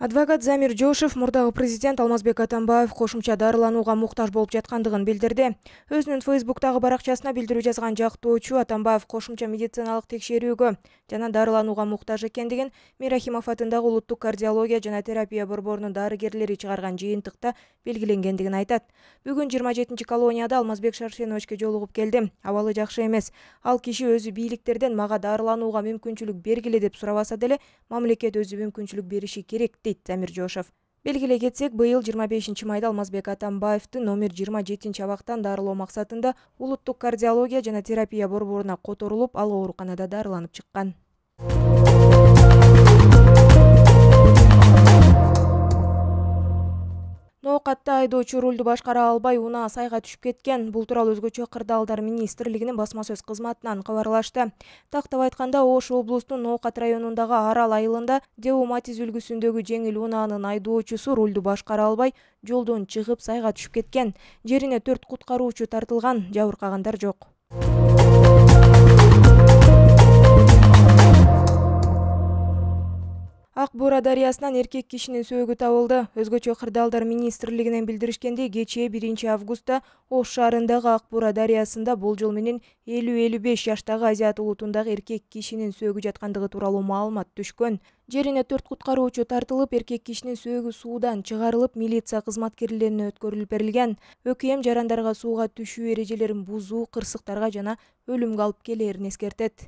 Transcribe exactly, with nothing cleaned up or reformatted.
Адвокат Замир Жошев мурдагы президент Алмазбек Атамбаев кошумча дарыланууга муктаж болуп жаткандыгын билдирди. Өзүнүн Фейсбуктагы баракчасына билдирүү жазган жактоочу Атамбаев кошумча медициналык текшерүүгө жана дарыланууга муктаж экендигин Мирахимов атындагы улуттук кардиология жана терапия борборунун дарыгерлери чыгарган жыйынтыкта белгиленгендигин айтат. Бүгүн жыйырма жетинчи колонияда Алмазбек Шаршеновичке жолугуп келдим. Абалы жакшы эмес. Ал киши өзү бийликтерден мага дарыланууга мүмкүнчүлүк бергиле деп сурабаса деле, мамлекет өзү мүмкүнчүлүк бериши керек дейт Замир Жошев. Белгилей кетсек, быйыл жыйырма бешинчи майда Алмазбек Атамбаевди номер жыйырма жетинчи абактан дарылоо максатында улуттук кардиология жана терапия борборуна которулуп, ал ооруканада дарыланып чыккан. Ноокатта айдоочу рулду башкара албай унаа сайга түшүп кеткен. Бул тууралуу Өзгөчө кырдаалдар министрлигинин басма сөз кызматынан кабарлашты. Тактап айтканда, Ош облусунун Ноокат районундагы Арал айылында Деу Матиз үлгүсүндөгү жеңил унаанын айдоочусу рулду башкара албай жолдон чыгып сайга түшүп кеткен. Жерине төрт куткаруучу тартылган, жабыркагандар жок. Ак Бура дарыясынан эркек кишинин сөөгү табылды. Өзгөчө кырдаалдар министрлигинен билдиришкендей, кечээ биринчи августта Ош шаарындагы Ак Бура дарыясында болжол менен элүү элүү беш жаштагы азиат улутундагы эркек кишинин сөөгү жаткандыгы тууралуу маалымат түшкөн. Жерине төрт куткаруучу тартылып, эркек кишинин сөөгү суудан чыгарылып, милиция кызматкерлерине өткөрүлүп берилген. ӨКМ жарандарга сууга түшүү эрежелерин бузуу кырсыктарга жана өлүмгө алып келээрин эскертет.